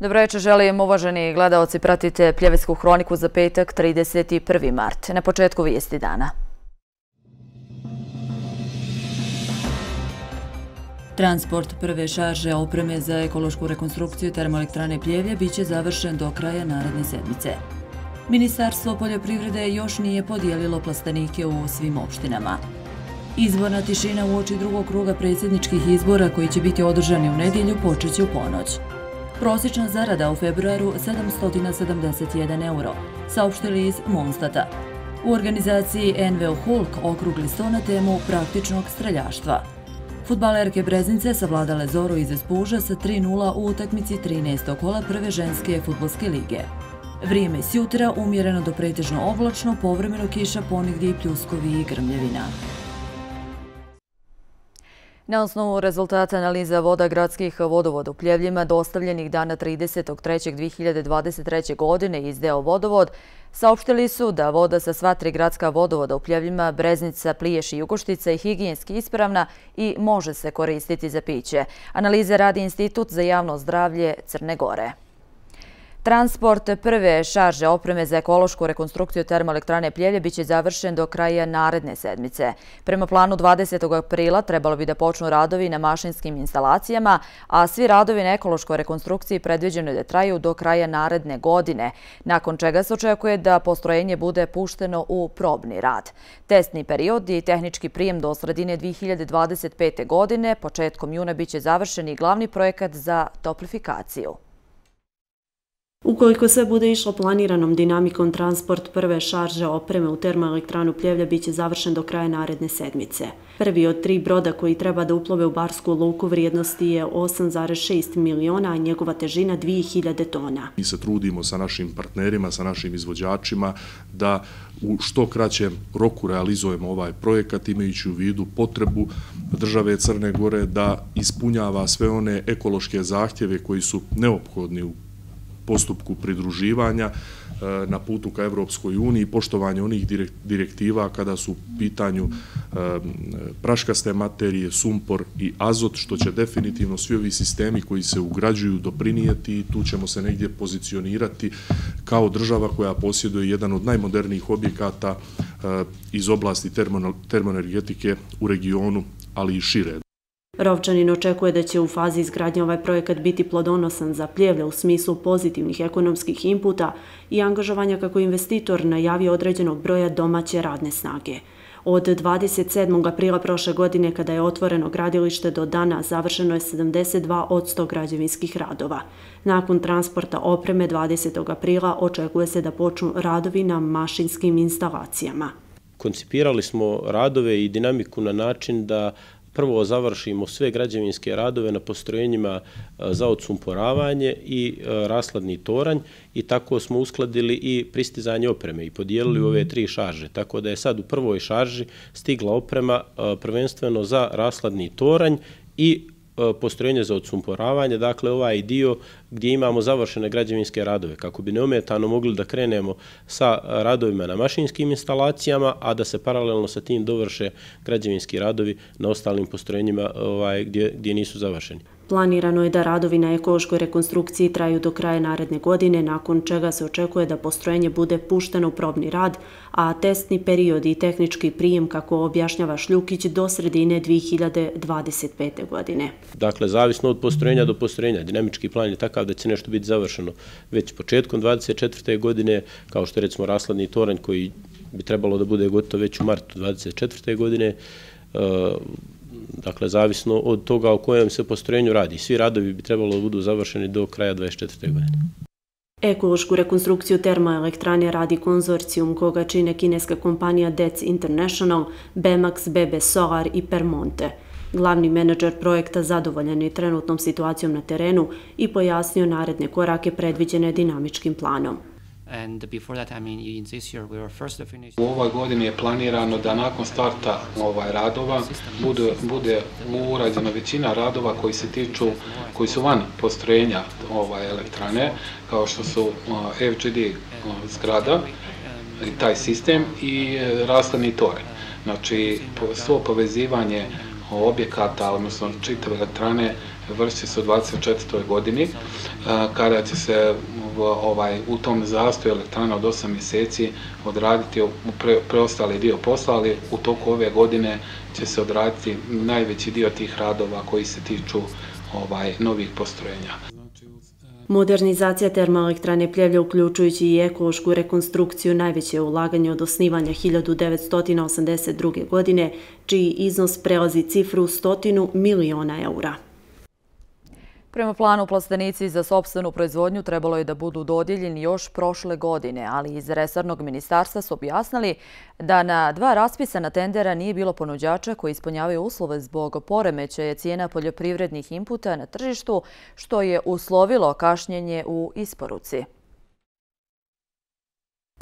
Dobro večer, želim uvaženi gledaoci, pratite Pljevetsku hroniku za petak 31. mart. Na početku vijesti dana. Transport prve šarže opreme za ekološku rekonstrukciju termoelektrane Pljevlje biće završen do kraja naredne sedmice. Ministarstvo poljoprivrede još nije podijelilo plastenike u svim opštinama. Izborna tišina uoči drugog kruga predsjedničkih izbora koji će biti održani u nedjelju počeće u ponoć. Prosječna zarada u februaru 771 euro, saopštili iz Monstata. U organizaciji NVO Hulk okrugli sto na temu praktičnog streljaštva. Fudbalerke Breznice savladale Zoru iz Espuža sa 3:0 u utakmici 13. kola prve ženske fudbalske lige. Vrijeme s jutra umjereno do pretežno oblačno, povremeno kiša, ponegdje i pljuskovi i grmljevina. Na osnovu rezultata analiza voda gradskih vodovoda u Pljevljima dostavljenih dana 30.3.2023. godine iz DO Vodovod, saopštili su da voda sa sva tri gradska vodovoda u Pljevljima, Breznica, Pliješ i Jugoštica je higijenski ispravna i može se koristiti za piće. Analize radi Institut za javno zdravlje Crne Gore. Transport prve šarže opreme za ekološku rekonstrukciju termoelektrane Pljevlje biće završen do kraja naredne sedmice. Prema planu 20. aprila trebalo bi da počnu radovi na mašinskim instalacijama, a svi radovi na ekološkoj rekonstrukciji predviđeno je da traju do kraja naredne godine, nakon čega se očekuje da postrojenje bude pušteno u probni rad. Testni period i tehnički prijem do sredine 2025. godine, početkom juna biće završen i glavni projekat za toplifikaciju. Ukoliko sve bude išlo planiranom dinamikom, transport prve šarže opreme u termoelektranu Pljevlja biće završen do kraja naredne sedmice. Prvi od 3 broda koji treba da uplove u Barsku luku vrijednosti je 8,6 miliona, a njegova težina 2000 tona. Mi se trudimo sa našim partnerima, sa našim izvođačima da u što kraćem roku realizujemo ovaj projekat, imajući u vidu potrebu države Crne Gore da ispunjava sve one ekološke zahtjeve koji su neophodni u postupku pridruživanja na putu ka Evropskoj uniji, poštovanje onih direktiva kada su u pitanju praškaste materije, sumpor i azot, što će definitivno svi ovi sistemi koji se ugrađuju doprinijeti i tu ćemo se negdje pozicionirati kao država koja posjeduje jedan od najmodernijih objekata iz oblasti termoenergetike u regionu, ali i šire. Rovčanin očekuje da će u fazi izgradnje ovaj projekat biti plodonosan za Pljevlje u smislu pozitivnih ekonomskih inputa i angažovanja kako investitor najavio određenog broja domaće radne snage. Od 27. aprila prošle godine, kada je otvoreno gradilište, do dana završeno je 72% građevinskih radova. Nakon transporta opreme 20. aprila očekuje se da počnu radovi na mašinskim instalacijama. Koncipirali smo radove i dinamiku na način da prvo završimo sve građevinske radove na postrojenjima za odsumporavanje i rashladni toranj i tako smo uskladili i pristizanje opreme i podijelili ove 3 šarže. Tako da je sad u prvoj šarži stigla oprema prvenstveno za rashladni toranj i postrojenje za odsumporavanje, dakle ovaj dio gdje imamo završene građevinske radove, kako bi neometano mogli da krenemo sa radovima na mašinskim instalacijama, a da se paralelno sa tim dovrše građevinski radovi na ostalim postrojenjima gdje nisu završeni. Planirano je da radovi na ekološkoj rekonstrukciji traju do kraja naredne godine, nakon čega se očekuje da postrojenje bude pušteno u probni rad, a testni period i tehnički prijem, kako objašnjava Šljukić, do sredine 2025. godine. Dakle, zavisno od postrojenja do postrojenja, dinamički plan je takav da će nešto biti završeno već početkom 2024. godine, kao što je recimo rashladni toranj koji bi trebalo da bude gotov već u martu 2024. godine, dakle, zavisno od toga o kojem se postrojenju radi. Svi radovi bi trebalo da budu završeni do kraja 2024. godine. Ekološku rekonstrukciju termoelektrane radi konzorcijum koga čine kineska kompanija DEC International, Bemax, BB Solar i Permonte. Glavni menadžer projekta zadovoljan je trenutnom situacijom na terenu i pojasnio naredne korake predviđene dinamičkim planom. U ovoj godini je planirano da nakon starta radova bude urađena većina radova koji su van postrojenja elektrane, kao što su FGD zgrada i taj sistem i rashladni toranj. Znači, svo povezivanje objekata, odnosno čitave elektrane, vršit će se u 2024. godini, kada će se u tom zastoju elektrana od 8 mjeseci odraditi preostali dio posla, ali u toku ove godine će se odraditi najveći dio tih radova koji se tiču novih postrojenja. Modernizacija termoelektrane Pljevlja, uključujući i ekološku rekonstrukciju, najveće je ulaganje od osnivanja 1982. godine, čiji iznos prelazi cifru 100 miliona eura. Prema planu, plastenici za sopstvenu proizvodnju trebalo je da budu dodijeljeni još prošle godine, ali iz resornog ministarstva su objasnili da na 2 raspisana tendera nije bilo ponuđača koji ispunjavaju uslove zbog poremećaja cijena poljoprivrednih inputa na tržištu, što je uslovilo kašnjenje u isporuci.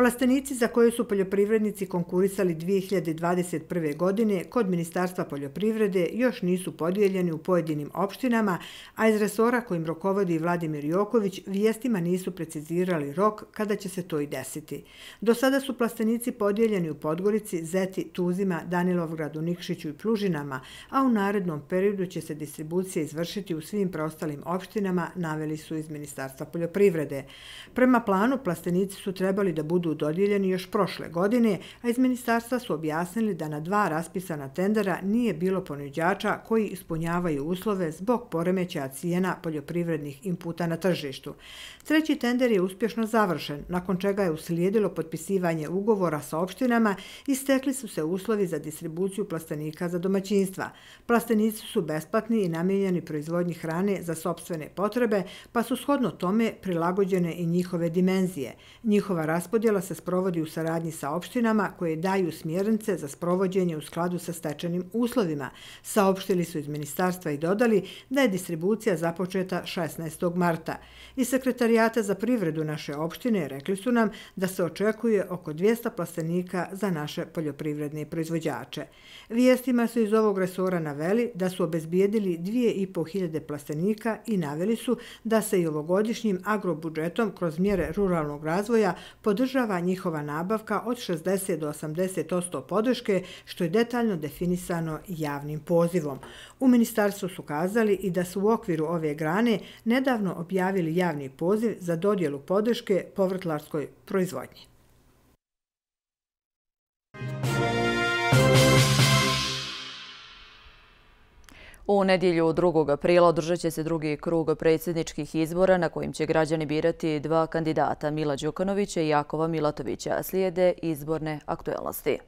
Plastenici za koje su poljoprivrednici konkurisali 2021. godine kod Ministarstva poljoprivrede još nisu podijeljeni u pojedinim opštinama, a iz resora kojim rukovodi Vladimir Joković vijestima nisu precizirali rok kada će se to i desiti. Do sada su plastenici podijeljeni u Podgorici, Zeti, Tuzima, Danilovgradu, Nikšiću i Plužinama, a u narednom periodu će se distribucija izvršiti u svim preostalim opštinama, naveli su iz Ministarstva poljoprivrede. Prema planu, plastenici su trebali da budu dodijeljeni još prošle godine, a iz ministarstva su objasnili da na 2 raspisana tendera nije bilo ponuđača koji ispunjavaju uslove zbog poremećaja cijena poljoprivrednih inputa na tržištu. 3. tender je uspješno završen, nakon čega je uslijedilo potpisivanje ugovora sa opštinama i stekli su se uslovi za distribuciju plastenika za domaćinstva. Plastenici su besplatni i namijenjeni proizvodnji hrane za sopstvene potrebe, pa su shodno tome prilagođene i njihove dimenzije. Njihova raspodjela se sprovodi u saradnji sa opštinama koje daju smjernice za sprovođenje u skladu sa stečenim uslovima. Saopštili su iz ministarstva i dodali da je distribucija započeta 16. marta. Iz Sekretarijata za privredu naše opštine rekli su nam da se očekuje oko 200 plastenika za naše poljoprivredne proizvođače. Vijestima su iz ovog resora naveli da su obezbijedili 2500 plastenika i naveli su da se i ovogodišnjim agrobudžetom kroz mjere ruralnog razvoja podržava njihova nabavka od 60 do 80% podrške, što je detaljno definisano javnim pozivom. U ministarstvu su kazali i da su u okviru ove grane nedavno objavili javni poziv za dodjelu podrške povrtlarskoj proizvodnji. U nedjelju 2. aprila održat će se 2. krug predsjedničkih izbora na kojim će građani birati 2 kandidata, Mila Đukanovića i Jakova Milatovića. Slijede izborne aktuelnosti.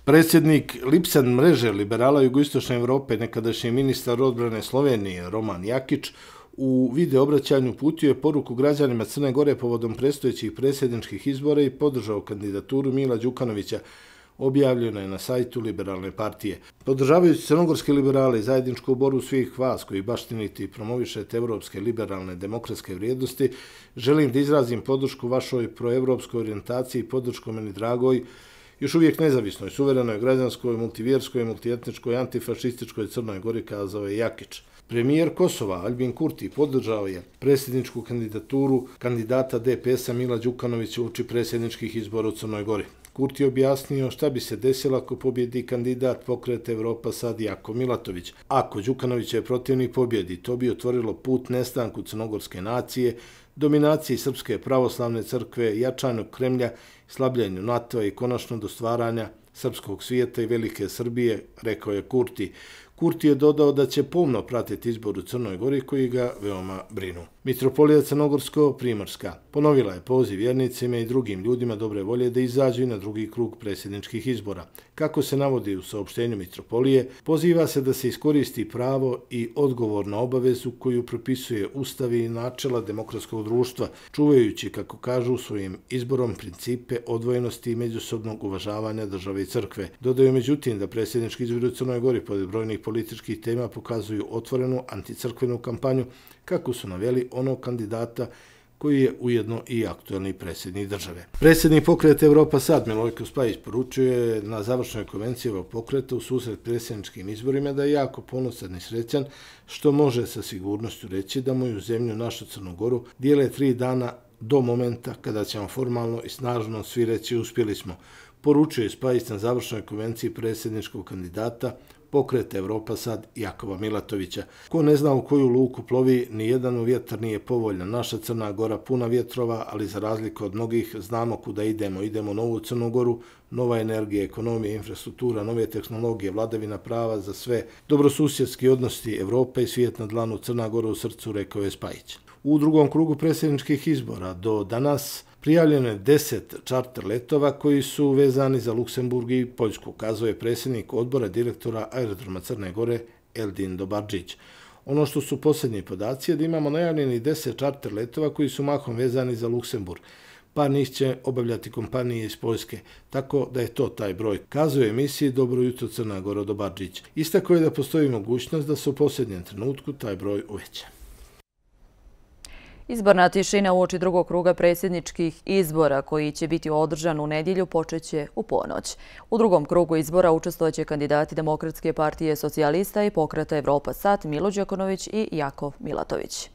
Predsjednik Lipsen mreže liberala Jugoistočne Evrope, nekadašnji ministar odbrane Slovenije Roman Jakić, u video obraćanju uputio je poruku građanima Crne Gore povodom predstojećih predsjedničkih izbora i podržao kandidaturu Mila Đukanovića, objavljeno je na sajtu Liberalne partije. Podržavajući crnogorske liberale i zajedničku borbu svih vas koji baštinite i promovišete evropske liberalne demokratske vrijednosti, želim da izrazim podršku vašoj proevropskoj orijentaciji i podršku meni dragoj, još uvijek nezavisnoj, suverenoj, građanskoj, multivjerskoj, multietničkoj, antifašističkoj Crnoj Gori, kazao je Jakić. Premijer Kosova Albin Kurti podržao je predsjedničku kandidaturu kandidata DPS-a Mila Đukanovića uoči predsjedničkih izbora u Crnoj Gori. Kurti je objasnio šta bi se desilo ako pobjedi kandidat Pokret Evropa sad Jako Milatović. Ako Đukanović je protivnik pobjedi, to bi otvorilo put nestanku crnogorske nacije, dominaciji Srpske pravoslavne crkve, jačanju Kremlja, slabljenju NATO-a i konačno do stvaranja srpskog svijeta i velike Srbije, rekao je Kurti. Kurti je dodao da će pomno pratiti izbor u Crnoj Gori koji ga veoma brinu. Mitropolija Crnogorsko-Primorska ponovila je poziv vjernicima i drugim ljudima dobre volje da izađu i na 2. krug predsjedničkih izbora. Kako se navodi u saopštenju Mitropolije, poziva se da se iskoristi pravo i odgovor na obavezu koju propisuje Ustav i načela demokratskog društva, čuvajući, kako kažu, svojim izborom principe odvojenosti i međusobnog uvažavanja države i crkve. Dodaju međutim da predsjednički izbori u Crnoj Gori pored brojnih političkih tema pokazuju otvorenu anticrkvenu kampanju, kako su naveli onog kandidata koji je ujedno i aktuelni predsjednik države. Predsjednik Pokreta Evropa sad Milojko Spajić poručuje na završnoj konvenciji ovog pokreta u susret predsjedničkim izborima da je jako ponosan i srećan, što može sa sigurnošću reći da moju zemlju, našu Crnu Goru, dijele 3 dana do momenta kada ćemo formalno i snažno svi reći uspjeli smo. Poručuje Spajić na završnoj konvenciji predsjedničkog kandidata Pokret Evropa Sad Jakova Milatovića. Ko ne zna u koju luku plovi, nijedan vjetar nije povoljan. Naša Crna Gora puna vjetrova, ali za razliku od mnogih znamo kuda idemo. Idemo u novu Crnu Goru, nova energija, ekonomija, infrastruktura, nove tehnologije, vladavina prava za sve, dobrosusjedski odnosi Evrope i svijet na dlanu, Crna Gora u srcu, rekao je Spajić. U drugom krugu predsjedničkih izbora do danas prijavljeno je 10 čarter letova koji su vezani za Luksemburg i Poljsku, kazao je predsjednik odbora direktora aerodroma Crne Gore Eldin Dobardžić. Ono što su posljednji podaci je da imamo najavljeni 10 čarter letova koji su mahom vezani za Luksemburg. Par njih će obavljati kompanije iz Poljske, tako da je to taj broj, kazao je emisiji Dobro jutro Crna Gora Dobardžić. Istakao je da postoji mogućnost da se u posljednjem trenutku taj broj uveća. Izborna tišina uoči drugog kruga predsjedničkih izbora koji će biti održan u nedjelju počeće u ponoć. U drugom krugu izbora učestvojeće kandidati Demokratske partije socijalista i Pokreta Evropa Sad Milo Đukanović i Jakov Milatović.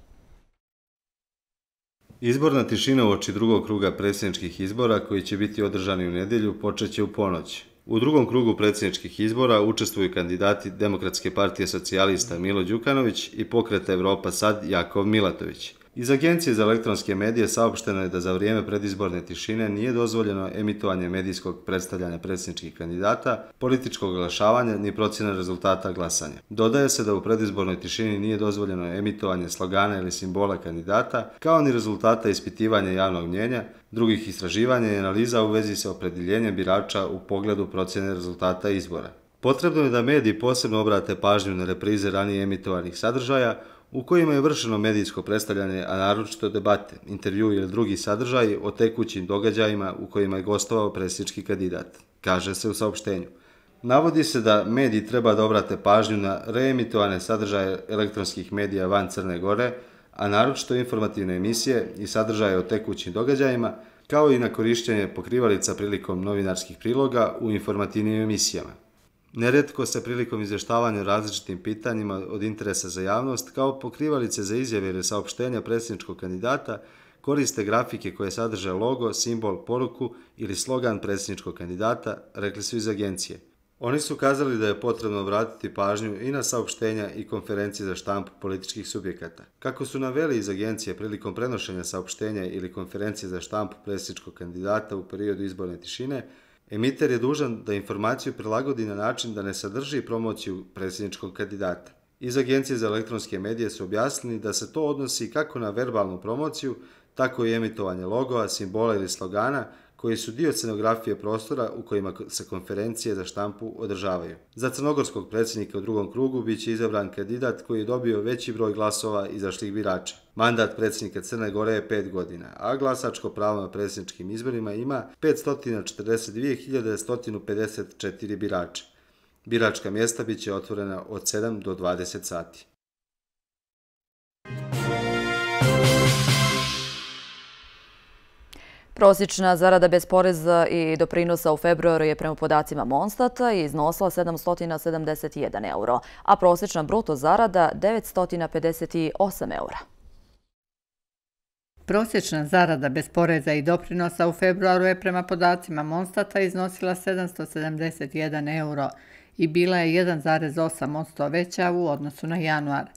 Izborna tišina uoči drugog kruga predsjedničkih izbora koji će biti održani u nedjelju počeće u ponoć. U drugom krugu predsjedničkih izbora učestvuju kandidati Demokratske partije socijalista Milo Đukanović i Pokreta Evropa Sad Jakov Milatović. Iz Agencije za elektronske medije saopšteno je da za vrijeme predizborne tišine nije dozvoljeno emitovanje medijskog predstavljanja predsjedničkih kandidata, političkog oglašavanja ni procjena rezultata glasanja. Dodaje se da u predizbornoj tišini nije dozvoljeno emitovanje slogana ili simbola kandidata, kao ni rezultata ispitivanja javnog mnjenja, drugih istraživanja i analiza u vezi sa opredjeljenjem birača u pogledu procjene rezultata izbora. Potrebno je da mediji posebno obrate pažnju na reprize ranije emitovanih sadržaja, u kojima je vršeno medijsko predstavljanje, a naročito debate, intervju ili drugi sadržaji o tekućim događajima u kojima je gostovao predsjednički kandidat, kaže se u saopštenju. Navodi se da mediji treba da obrate pažnju na reemitovane sadržaje elektronskih medija van Crne Gore, a naročito informativne emisije i sadržaje o tekućim događajima, kao i na korišćenje pokrivalica prilikom novinarskih priloga u informativnim emisijama. Nerijetko se prilikom izvještavanja o različitim pitanjima od interesa za javnost, kao pokrivalice za izjave ili saopštenja predsjedničkog kandidata, koriste grafike koje sadrže logo, simbol, poruku ili slogan predsjedničkog kandidata, rekli su iz agencije. Oni su kazali da je potrebno obratiti pažnju i na saopštenja i konferencije za štampu političkih subjekata. Kako su naveli iz agencije prilikom prenošenja saopštenja ili konferencije za štampu predsjedničkog kandidata u periodu izborne tišine, emiter je dužan da informaciju prilagodi na način da ne sadrži promociju predsjedničkog kandidata. Iz Agencije za elektronske medije su objasnili da se to odnosi kako na verbalnu promociju, tako i emitovanje logova, simbola ili slogana koji su dio scenografije prostora u kojima se konferencije za štampu održavaju. Za crnogorskog predsjednika u drugom krugu biće izabran kandidat koji je dobio veći broj glasova izašlih birača. Mandat predsjednika Crne Gore je 5 godina, a glasačko pravo na predsjedničkim izborima ima 542.154 birača. Biračka mjesta biće otvorena od 7 do 20 sati. Prosječna zarada bez poreza i doprinosa u februaru je prema podacima Monstata iznosila 771 euro, a prosječna bruto zarada 958 eura. Prosječna zarada bez poreza i doprinosa u februaru je prema podacima Monstata iznosila 771 euro i bila je 1,8% veća u odnosu na januar.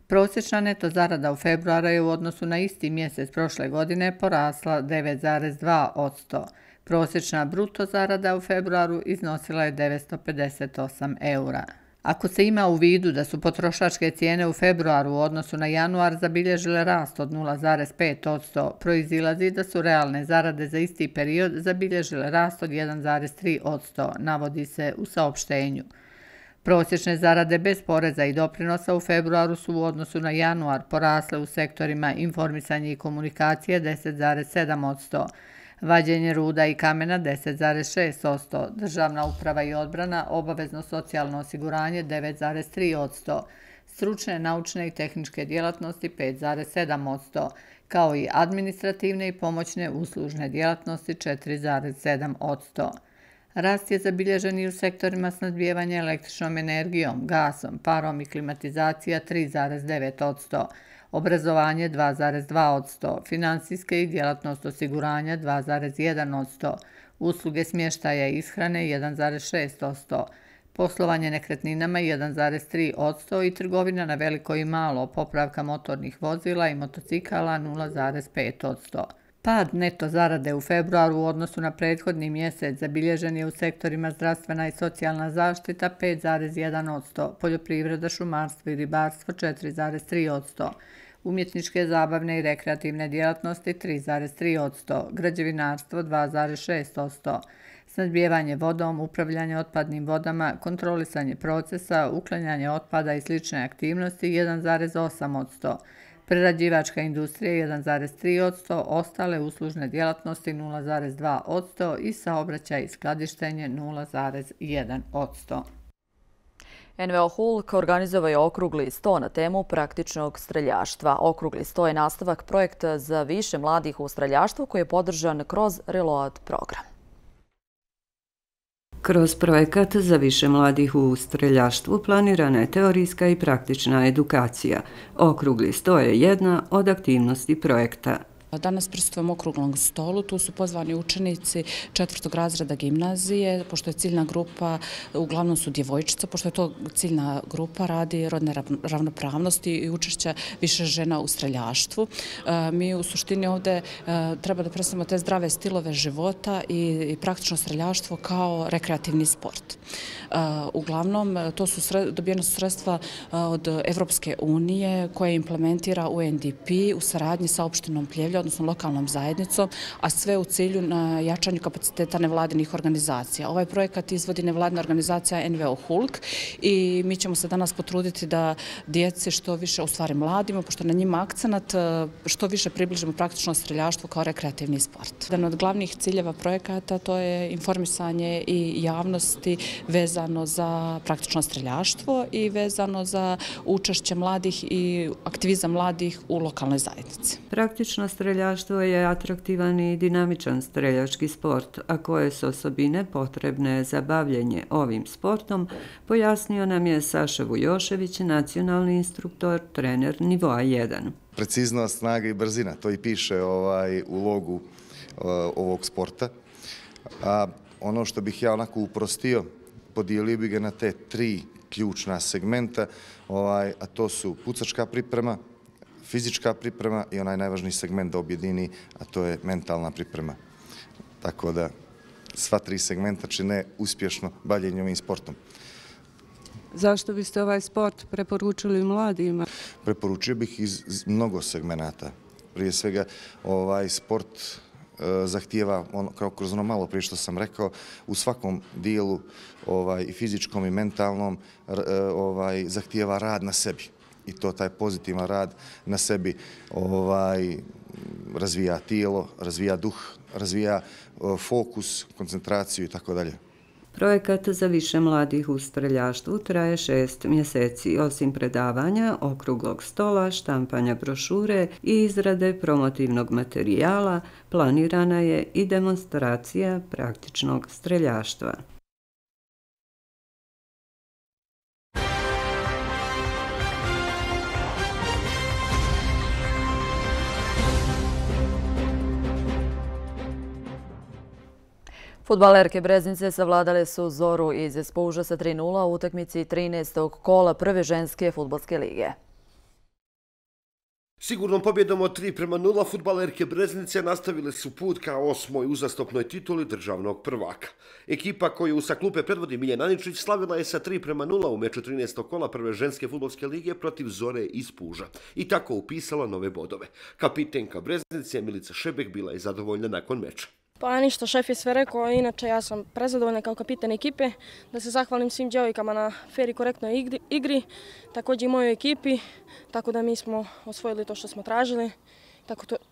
Prosječna neto zarada u februaru je u odnosu na isti mjesec prošle godine porasla 9,2%. Prosječna bruto zarada u februaru iznosila je 958 eura. Ako se ima u vidu da su potrošačke cijene u februaru u odnosu na januar zabilježile rast od 0,5%, proizilazi da su realne zarade za isti period zabilježile rast od 1,3%, navodi se u saopštenju. Prosječne zarade bez poreza i doprinosa u februaru su u odnosu na januar porasle u sektorima informisanje i komunikacije 10,7%, vađenje ruda i kamena 10,6%, državna uprava i odbrana, obavezno socijalno osiguranje 9,3%, stručne, naučne i tehničke djelatnosti 5,7%, kao i administrativne i pomoćne uslužne djelatnosti 4,7%. Rast je zabilježen i u sektorima snabdijevanja električnom energijom, gasom, parom i klimatizacija 3,9%, obrazovanje 2,2%, finansijske i djelatnost osiguranja 2,1%, usluge smještaja i ishrane 1,6%, Poslovanje nekretninama 1,3% i trgovina na veliko i malo, popravka motornih vozila i motocikala 0,5%. Pad neto zarade u februaru u odnosu na prethodni mjesec zabilježen je u sektorima zdravstvena i socijalna zaštita 5,1%, poljoprivreda, šumarstvo i ribarstvo 4,3%, umjetničke, zabavne i rekreativne djelatnosti 3,3%, građevinarstvo 2,6%, snadbijevanje vodom, upravljanje otpadnim vodama, kontrolisanje procesa, uklanjanje otpada i slične aktivnosti 1,8%, prerađivačka industrija 1,3%, ostale uslužne djelatnosti 0,2% i saobraćaj i skladištenje 0,1%. NVO Hulk organizovao je okrugli sto na temu praktičnog streljaštva. Okrugli sto je nastavak projekta za više mladih u streljaštvu koji je podržan kroz Reload program. Kroz projekat za više mladih u streljaštvu planirana je teorijska i praktična edukacija. Okrugli sto je jedna od aktivnosti projekta. Danas prisustvujemo okruglom stolu, tu su pozvani učenici 4. razreda gimnazije, pošto je ciljna grupa, uglavnom su djevojčice, pošto je to ciljna grupa, radi rodne ravnopravnosti i učešća više žena u streljaštvu. Mi u suštini ovdje treba da predstavimo te zdrave stilove života i praktično streljaštvo kao rekreativni sport. Uglavnom, to su dobijena su sredstva od Evropske unije koje implementira UNDP u saradnji sa opštinom Pljevlja, odnosno lokalnom zajednicom, a sve u cilju na jačanju kapaciteta nevladinih organizacija. Ovaj projekat izvodi nevladina organizacija NVO Hulk i mi ćemo se danas potruditi da djeci što više, u stvari mladima, pošto na njima akcenat, što više približimo praktično streljaštvo kao rekreativni sport. Jedan od glavnih ciljeva projekata to je informisanje i javnosti vezano za praktično streljaštvo i vezano za učešće mladih i aktivizam mladih u lokalnoj zajednici. Praktično streljaštvo je atraktivan i dinamičan streljački sport, a koje su osobine potrebne za bavljenje ovim sportom, pojasnio nam je Saša Vujošević, nacionalni instruktor, trener nivoa 1. Preciznost, snaga i brzina, to i piše u logu ovog sporta. A ono što bih ja onako uprostio, podijelio bi ga na te 3 ključna segmenta, a to su pucačka priprema, fizička priprema i onaj najvažniji segment da objedini, a to je mentalna priprema. Tako da sva 3 segmenta čine uspješno bavljenje ovim sportom. Zašto biste ovaj sport preporučili mladima? Preporučio bih iz mnogo segmenata. Prije svega, sport zahtijeva, kao kroz ono malo prije što sam rekao, u svakom dijelu i fizičkom i mentalnom zahtijeva rad na sebi. I to taj pozitivan rad na sebi razvija tijelo, razvija duh, razvija fokus, koncentraciju i tako dalje. Projekat za više mladih u streljaštvu traje 6 mjeseci. Osim predavanja, okruglog stola, štampanja brošure i izrade promotivnog materijala, planirana je i demonstracija praktičnog streljaštva. Fudbalerke Breznice savladale su Zoru iz Spuža sa 3:0 u utakmici 13. kola prve ženske fudbalske lige. Sigurnom pobjedom od 3:0 fudbalerke Breznice nastavile su put ka 8. uzastopnoj tituli državnog prvaka. Ekipa koju sa klupe predvodi Miljan Aničić slavila je sa 3:0 u meču 13. kola prve ženske fudbalske lige protiv Zore iz Puža i tako upisala nove bodove. Kapitenka Breznice Milica Šebek bila je zadovoljna nakon meča. Pa ništa, šef je sve rekao, inače ja sam prezadovoljna kao kapiten ekipe, da se zahvalim svim djevojkama na fer i korektnoj igri, također i mojoj ekipi, tako da mi smo osvojili to što smo tražili,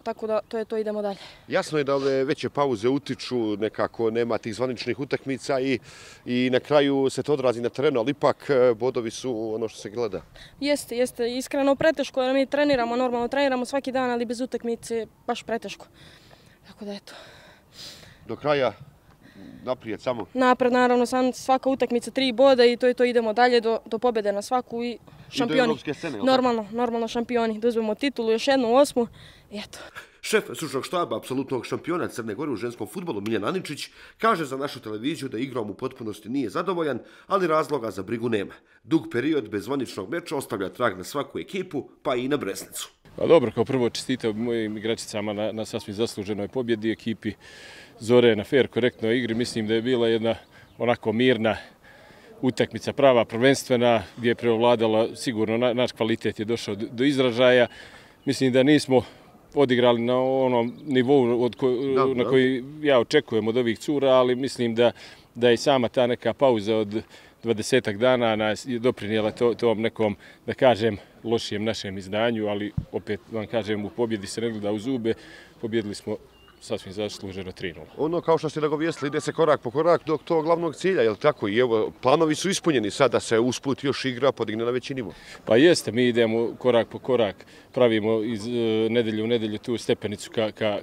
tako da to je to, idemo dalje. Jasno je da ove veće pauze utiču, nekako nema tih zvaničnih utakmica i na kraju se to odrazi na terenu, ali ipak bodovi su ono što se gleda. Jeste, iskreno preteško jer mi treniramo, normalno treniramo svaki dan, ali bez utakmice baš preteško, tako da eto. Do kraja naprijed samo? Napred, naravno, svaka utakmica 3 boda i to je to, idemo dalje do pobjede na svaku i šampioni. Normalno šampioni. Da uzmemo titulu, još jednu 8. I eto. Šef stručnog štaba apsolutnog šampiona Crne Gore u ženskom fudbalu Miljan Aničić kaže za našu televiziju da igrom u potpunosti nije zadovoljan, ali razloga za brigu nema. Dug period bez zvaničnog meča ostavlja trag na svaku ekipu, pa i na Bresnicu. Pa dobro, kao prvo čestitao mojim igračicama na sasvim zasluženoj pobjedi, ekipi Zore na fair, korektnoj igri. Mislim da je bila jedna onako mirna utakmica, prava, prvenstvena, gdje je preovladala, sigurno naš kvalitet je došao do izražaja. Mislim da nismo odigrali na onom nivou na koji ja očekujem od ovih cura, ali mislim da je sama ta neka pauza od 20 dana nas je doprinijela tom nekom, da kažem, lošijem našem izdanju, ali opet vam kažem, u pobjedi se ne gleda u zube, pobjedili smo sasvim zasluženo 3-0. Ono, kao što ste nagovijestili, ide se korak po korak do tog glavnog cilja, je li tako? I evo, planovi su ispunjeni sada se usput još igra podigne na veći nivo. Pa jeste, mi idemo korak po korak, pravimo iz nedelju u nedelju tu stepenicu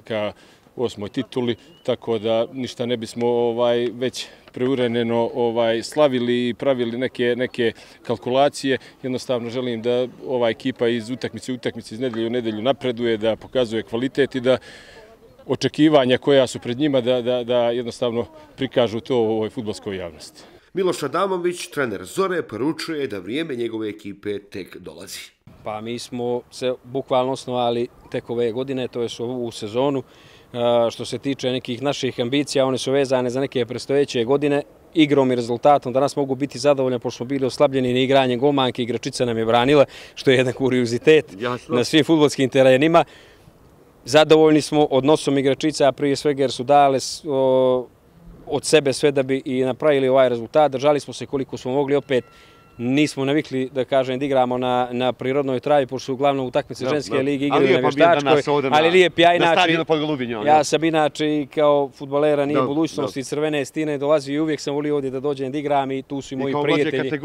ka 8. tituli, tako da ništa ne bismo već preuranjeno slavili i pravili neke kalkulacije. Jednostavno želim da ova ekipa iz utakmice iz nedelju u nedelju napreduje, da pokazuje kvalitet i da očekivanja koja su pred njima da jednostavno prikažu to u ovoj fudbalskoj javnosti. Miloš Adamović, trener Zore, poručuje da vrijeme njegove ekipe tek dolazi. Pa mi smo se bukvalno osnovali tek ove godine, to je ovu sezonu. Što se tiče nekih naših ambicija, one su vezane za neke predstojeće godine. Igrom i rezultatom danas mogu biti zadovoljni, pošto smo bili oslabljeni na igranje golmanke, igračica nam je branila, što je jedan kuriozitet na svim fudbalskim terenima. Zadovoljni smo odnosom igračica, a prije svega jer su dale od sebe sve da bi i napravili ovaj rezultat. Držali smo se koliko smo mogli, opet nismo navikli da kažem da igramo na prirodnoj travi, pošto su uglavnom utakmice ženske lige igraju na vještačkoj, ali lijep ja sam inače kao fudbalera nije budućnosti Crvene Stine dolazio i uvijek sam volio ovdje da dođem da igram i tu su i moji prijatelji.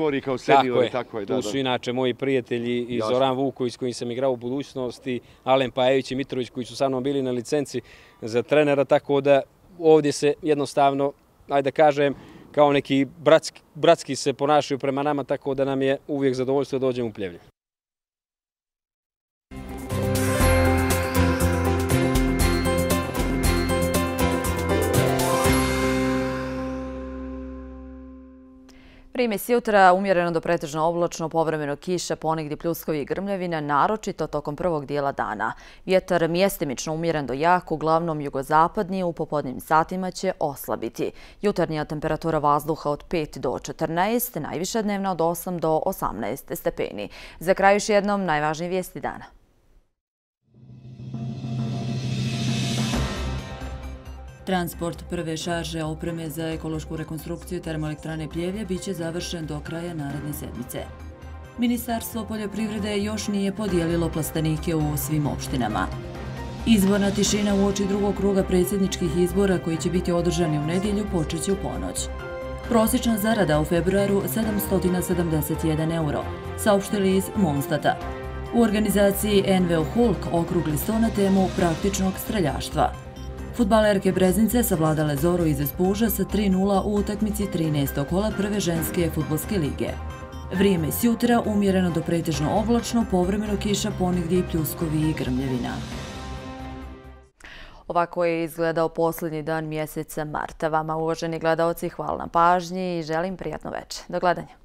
Tu su inače moji prijatelji i Zoran Vuković s kojim sam igrao u budućnosti, Alen Pajević i Mitrović koji su sa mnom bili na licenci za trenera, tako da ovdje se jednostavno, ajde da kažem, kao neki bratski se ponašaju prema nama, tako da nam je uvijek zadovoljstvo da dođemo u Pljevlje. Primis jutra umjereno do pretežno oblačno, povremeno kiša, ponegdje pljuskovi i grmljavina, naročito tokom prvog dijela dana. Vjetar mjestimično umjeren do jak, uglavnom jugozapadniji, u popodnim satima će oslabiti. Jutarnja temperatura vazduha od 5 do 14, najviša dnevna od 8 do 18 stepeni. Za kraj još jednom najvažnije vijesti dana. Transport prve šarže opreme za ekološku rekonstrukciju termoelektrane Pljevlje biće završen do kraja naredne sedmice. Ministarstvo poljoprivrede još nije podijelilo plastenike u svim opštinama. Izborna tišina uoči drugog kruga predsjedničkih izbora koji će biti održani u nedjelju počeće u ponoć. Prosječna zarada u februaru 771 euro, saopštili iz Monstata. U organizaciji NVO Hulk okrugli sto na temu praktičnog streljaštva. Fudbalerke Breznice savladale Zoru iz Espuža sa 3-0 u utakmici 13. kola prve ženske fudbalske lige. Vrijeme s jutra umjereno do pretežno oblačno, povremeno kiša, ponegdje i pljuskovi i grmljavina. Ovako je izgledao posljednji dan mjeseca marta. Vama, uvaženi gledaoci, hvala na pažnji i želim prijatno večer. Do gledanja.